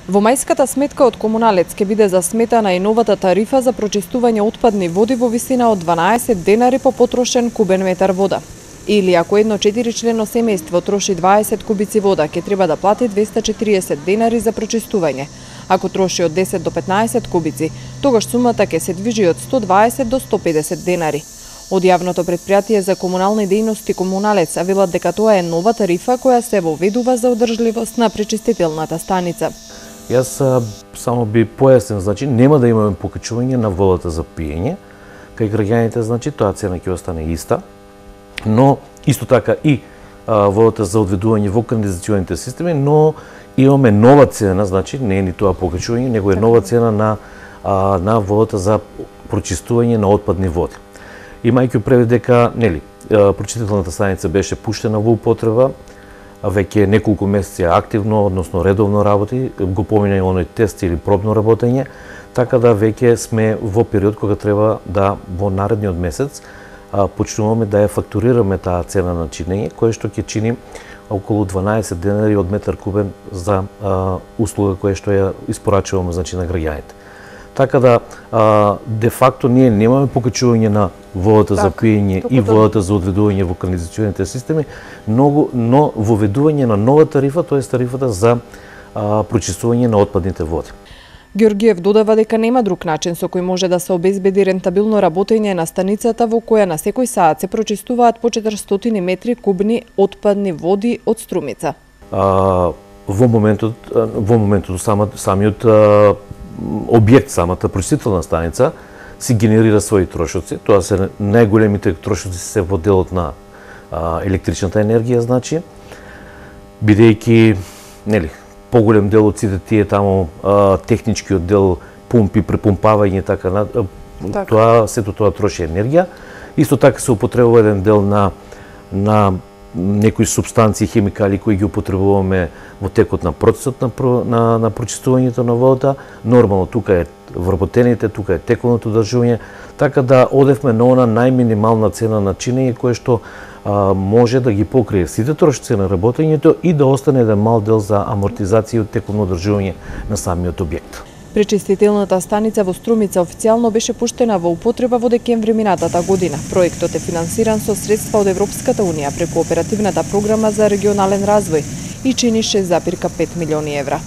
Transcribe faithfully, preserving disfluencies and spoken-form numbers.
Во мајската сметка од Комуналец ќе биде засметана и новата тарифа за прочистување отпадни води во висина од дванаесет денари по потрошен кубен метар вода. Или ако едно четиричлено семејство троши дваесет кубици вода, ќе треба да плати двесте и четириесет денари за прочистување. Ако троши од десет до петнаесет кубици, тогаш сумата ќе се движи од сто дваесет до сто педесет денари. Од јавното предпријатие за комунални дејности Комуналец велат дека тоа е нова тарифа која се воведува за одржливост на пречистителната станица. Јас само би појаснил, значи нема да имаме покачување на водата за пиење, кај граѓаните, значи тоа цена ќе остане иста, но исто така и а, водата за одведување во канализационите системи, но имаме нова цена, значи не е ни тоа покачување, него е нова цена на а, на водата за прочистување на отпадни води. Имајќи предвид дека, нели, прочистителната станица беше пуштена во употреба, веќе неколку месеци активно, односно редовно работи, го помина и оној тест или пробно работење, така да веќе сме во период кога треба да во наредниот месец а, почнуваме да ја фактурираме таа цена на чинење, која што ќе чини околу дванаесет денари од метар кубен за а, услуга која што ја испорачуваме, значи, на граѓаните. Така да, а, де факто ние немаме покачување на водата так, за пиење и водата за одведување во канализационите системи, но, но воведување на нова тарифа, тоа е тарифата за а, прочистување на отпадните води. Ѓорѓиев додава дека нема друг начин со кој може да се обезбеди рентабилно работење на станицата во која на секој саат се прочистуваат по четиристотини метри кубни отпадни води од Струмица. А, во моментот, во моментот сама, самиот а, објект, самата прочистителна станица, си генерира своји трошоци. Тоа се најголемите трошоци се во делот на а, електричната енергија, значи, бидејќи, нели, поголем дел од сите тие таму а, техничкиот дел, пумпи, препумпавање, така на така. Тоа сето тоа троши енергија. Исто така се употребува еден дел на на некои субстанции, хемикали кои ги употребуваме во текот на процесот на, на, на прочистувањето на водата. Нормално тука е вработените, тука е тековното одржување, така да одевме на она најминимална цена на чинење која што а, може да ги покрие сите трошоци на работењето и да остане еден мал дел за амортизација и тековно одржување на самиот објект. Пречистителната станица во Струмица официјално беше пуштена во употреба во декември минатата година. Проектот е финансиран со средства од Европската унија преку оперативната програма за регионален развој и чини шест зарем пет милиони евра.